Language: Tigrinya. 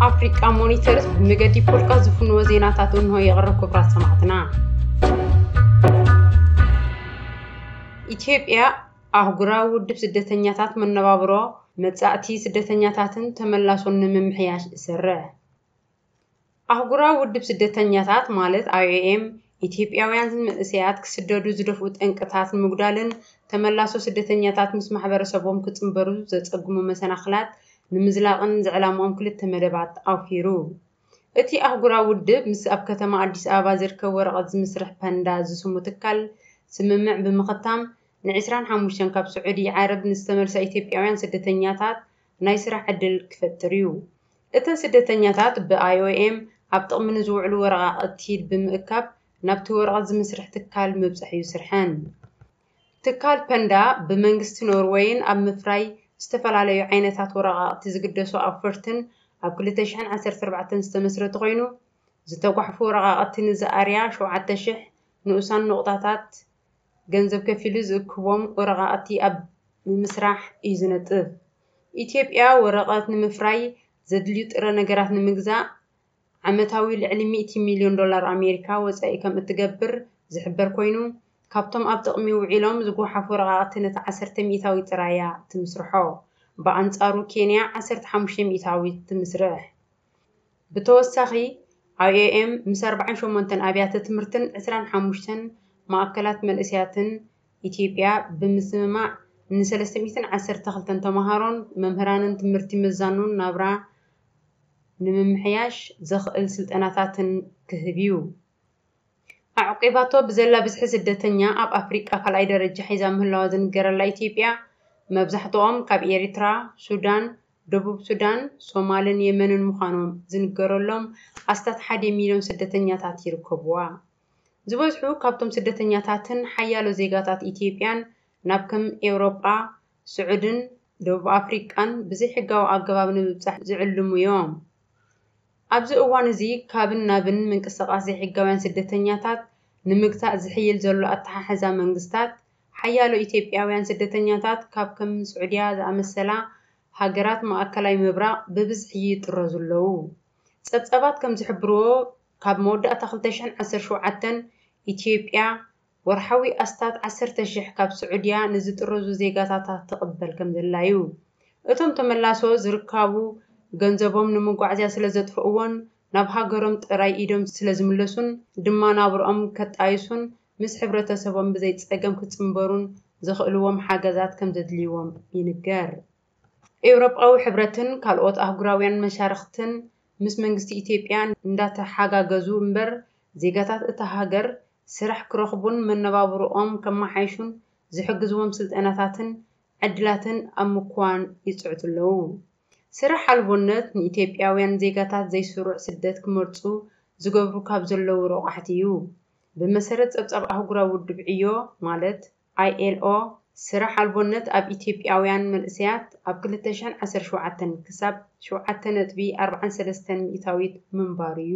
ኣፍሪቃ ሞኒተርስ ብመገዲ ፖድካስት ዝፍንዎ ዜናታት እንሆ የቕርብ። ክቡራት ሰማዕትና፣ ኢትዮጵያ ኣህጉራዊ ውድብ ስደተኛታት መነባብሮ መጻእቲ ስደተኛታትን ተመላሶን ንምምሕያሽ እሰርሕ። ኣህጉራዊ ውድብ ስደተኛታት ማለት ኣይ ኦ ኤም ኢትዮጵያውያን መንእሰያት ክስደዱ ዝደፍኡ ጠንቅታት ንምጉዳልን ተመላሶ ስደተኛታት ምስ ማሕበረሰቦም ክጽንበሩ ዘጸግሙ መሰናኽላት ንምዝላቕን ዝዕላምኦም ክልተ መደባት ኣውፊሩ። እቲ ኣህጉራዊ ውድብ ምስ ኣብ ከተማ ኣዲስ ኣበባ ዝርከብ ወረቐት ዝምስርሕ ፐንዳ ዝስሙ ትካል ስምምዕ ብምኽታም ን25 ካብ ስዑዲ ዓረብ ንዝተመልሳ ኢትዮጵያውያን ስደተኛታት ናይ ስራሕ ዕድል ክፈጥር እዩ። እተን ስደተኛታት ብ ኣይ ኦ ኤም ኣብ ጥቕሚ ንዝውዕሉ ወረቓቕቲ ብምእካብ ናብቲ ወረቐት ዝምስርሕ ትካል ምብጻሕ እዩ ስርሐን። ትካል ፐንዳ ብመንግስቲ ኖርወይን ኣብ ምፍራይ ዝተፈላለዩ ዓይነታት ወረቓቕቲ ዝግደሱ ኣውፈርትን ኣብ 2014 ዝተመስረተ ኮይኑ፣ ዝተጓሕፉ ወረቓቕቲ ንዝኣርያ 7,000 ንኡሳን ነቑጣታት ገንዘብ ከፊሉ ዝእክቦም ወረቓቕቲ ኣብ ምምስራሕ እዩ ዝነጥፍ። ኢትዮጵያ ወረቐት ንምፍራይ ዘድልዩ ጥረ ነገራት ንምግዛእ ዓመታዊ ልዕሊ ሚእቲ ሚልዮን ዶላር ኣሜሪካ ወጻኢ ከም እትገብር ዝሕበር ኮይኑ፣ ካብቶም ኣብ ጥቕሚ ውዒሎም ዝጓሓፉ ወረቓቕቲ ነቲ ዓሰርተ ሚእታዊ ጥራይ እያ ትምስርሖ። ብኣንጻሩ ኬንያ ዓሰርተ ሓሙሽተ ሚእታዊት ትምስርሕ። ብተወሳኺ ኣይ ኦ ኤም ምስ ኣርባዓን ሸሞንተን ኣብያተ ትምህርትን ዕስራን ሓሙሽተን ማእከላት መንእሰያትን ኢትዮጵያ ብምስምማዕ ን312 ተምሃሮን መምህራንን ትምህርቲ ምዛኑን ናብራ ንምምሕያሽ ዘኽእል ስልጠናታትን ክህብ እዩ። ኣዕቂባቶ ብዘላ ብዝሒ ስደተኛ ኣብ ኣፍሪቃ ካልኣይ ደረጃ ሒዛ ምህላዋ ዝንገረላ ኢትዮጵያ፣ መብዛሕትኦም ካብ ኤሪትራ፣ ሱዳን፣ ደቡብ ሱዳን፣ ሶማልን የመንን ምዃኖም ዝንገረሎም ኣስታት ሓደ ሚልዮን ስደተኛታት ይርከብዋ። ዝበዝሑ ካብቶም ስደተኛታትን ሓያሎ ዜጋታት ኢትዮጵያን ናብ ከም ኤውሮጳ፣ ስዑድን ደቡብ ኣፍሪቃን ብዘይሕጋዊ ኣገባብ ንምብጻሕ ዝዕልሙ እዮም። ኣብዚ እዋን እዚ ካብን ናብን ምንቅስቓስ ዘይሕጋውያን ስደተኛታት ንምግታእ ዝሕይል ዘሎ ኣተሓሕዛ መንግስታት፣ ሓያሎ ኢትዮጵያውያን ስደተኛታት ካብ ከም ስዑድያ ዝኣመሰላ ሃገራት ማእከላይ ምብራቕ ብብዝሒ ይጥረዙ ኣለዉ። ጸብጻባት ከም ዝሕብርዎ፣ ካብ መወዳእታ 2017 ኢትዮጵያ ወርሓዊ ኣስታት 10,000 ካብ ስዑድያ ንዝጥረዙ ዜጋታታ ትቕበል ከም ዘላ እዩ። እቶም ተመላሶ ዝርካቡ ገንዘቦም ንመጓዕዝያ ስለ ዘጥፍእዎን ናብ ሃገሮም ጥራይ ኢዶም ስለ ዝምለሱን ድማ ናብርኦም ከጣይሱን ምስ ሕብረተሰቦም ብዘይ ጸገም ክጽንበሩን ዘኽእልዎም ሓገዛት ከም ዘድልይዎም ይንገር። ኤውሮጳዊ ሕብረትን ካልኦት ኣህጉራውያን መሻርኽትን ምስ መንግስቲ ኢትዮጵያ እንዳተሓጋገዙ እምበር፣ ዜጋታት እታ ሃገር ስራሕ ክረኽቡን መነባብሮኦም ከመሓይሹን ዝሕግዝዎም ስልጠናታትን ዕድላትን ኣብ ምክዋን ይጽዕቱ ኣለዉ። ስራሕ ኣልቦነት ንኢትዮጵያውያን ዜጋታት ዘይስሩዕ ስደት ክመርጹ ዝገብሩ ካብ ዘለዉ ረቋሕቲ እዩ። ብመሰረት ጸብጻብ ኣህጉራዊ ውድብ ዕዮ ማለት ኣይ ኤል ኦ፣ ስራሕ ኣልቦነት ኣብ ኢትዮጵያውያን መንእሰያት ኣብ 2017 ክሳብ 7.43% ምንባሩ እዩ።